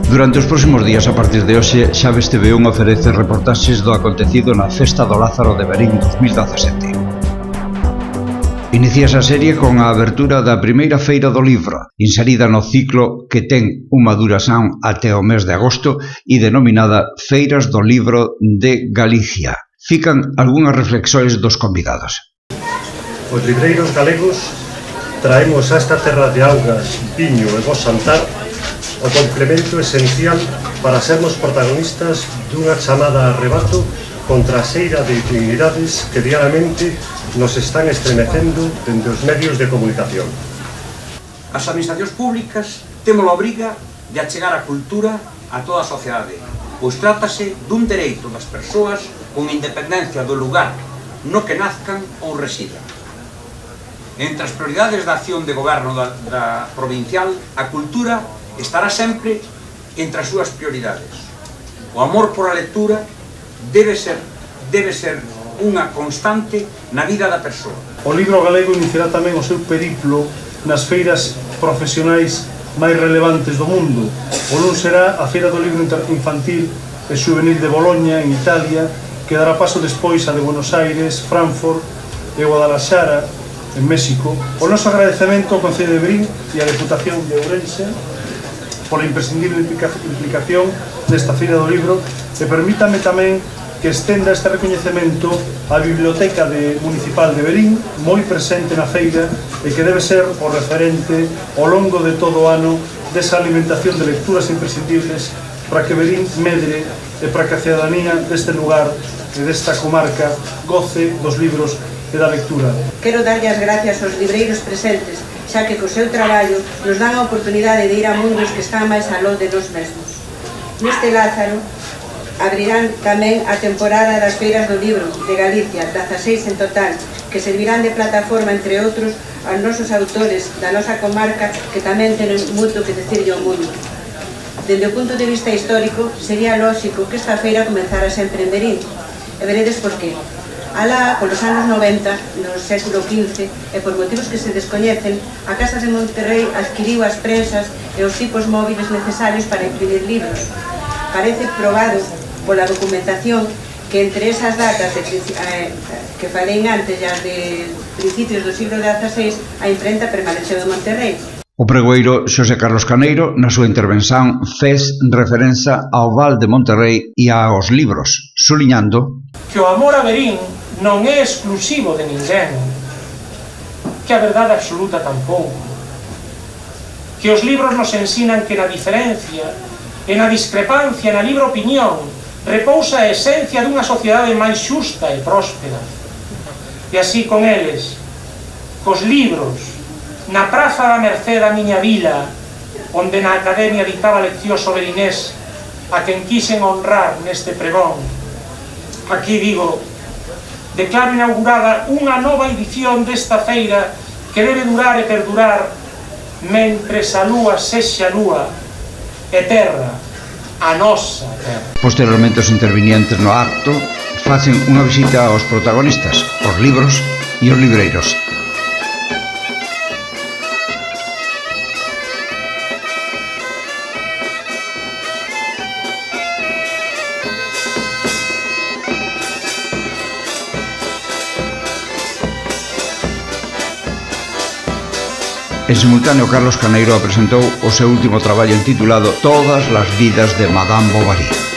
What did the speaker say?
Durante os próximos días, a partir de hoxe, Xaves TV1 oferece reportaxes do acontecido na Festa do Lázaro de Verín 2017. Iníciase a serie con a abertura da primeira feira do libro, inserida no ciclo que ten unha duración até o mes de agosto e denominada Feiras do Libro de Galicia. Fican algunhas reflexións dos convidados. Os libreiros galegos traemos a esta terra de augas, viño e bo xantar o complemento esencial para sermos protagonistas dunha chamada a arrebato contra a xeira de dignidades que diariamente nos están estremecendo dende os medios de comunicación. As administracións públicas temos a obriga de achegar a cultura a toda a sociedade, pois trátase dun dereito das persoas con independencia do lugar no que nazcan ou residan. Entre as prioridades da acción de goberno da provincial, a cultura estará sempre entre as súas prioridades. O amor por a lectura debe ser unha constante na vida da persoa. O libro galego iniciará tamén o seu periplo nas feiras profesionais máis relevantes do mundo. O luns será a Feira do Libro Infantil e Xuvenil de Boloña, en Italia, que dará paso despois a de Buenos Aires, Frankfurt e Guadalajara, en México. O noso agradecemento ao Concello de Verín e á Deputación de Ourense pola imprescindible implicación nesta Feira do Libro, e permítame tamén que estenda este recoñecemento á Biblioteca Municipal de Verín, moi presente na feira e que debe ser o referente ao longo de todo o ano desa alimentación de lecturas imprescindibles para que Verín medre e para que a cidadanía deste lugar e desta comarca goce dos libros e da lectura. Quero darlle as gracias aos libreiros presentes, xa que co seu traballo nos dan a oportunidade de ir a mundos que están máis aló de nós mesmos. Neste Lázaro abrirán tamén a temporada das Feiras do Libro de Galicia, 16 en total, que servirán de plataforma, entre outros, aos nosos autores da nosa comarca que tamén tenen moito que decirlle ao mundo. Dende o punto de vista histórico, sería lóxico que esta feira comezara sempre en Verín, e veredes por qué. Alá, polos anos 90, no século XV, e por motivos que se descoñecen, a Casa de Monterrey adquiriu as prensas e os tipos móviles necesarios para imprimir libros. Parece probado pola documentación que entre esas datas que falei antes, as de principios do siglo XVI, a imprenta permaneceu en Monterrey. O pregoeiro Xosé Carlos Caneiro, na súa intervención, fez referencia ao Val de Monterrey e aos libros, suliñando que o amor a Verín non é exclusivo de ninguén, que a verdade absoluta tampouco, que os libros nos ensinan que na diferencia e na discrepancia, na libre opinión, repousa a esencia dunha sociedade máis xusta e próspera. E así con eles, cos libros, na Praza da Mercé da miña vila, onde na Academia dictaba leccións sobre Inés, a quen quixen honrar neste pregón, aquí digo, declaro inaugurada unha nova edición desta feira que debe durar e perdurar mentres a lúa sexa lúa e terra, a nosa terra. Posteriormente, os intervinientes no acto facen unha visita aos protagonistas, os libros e os libreiros. En simultáneo, Carlos Caneiro apresentou o seu último traballo intitulado Todas las vidas de Madame Bovary.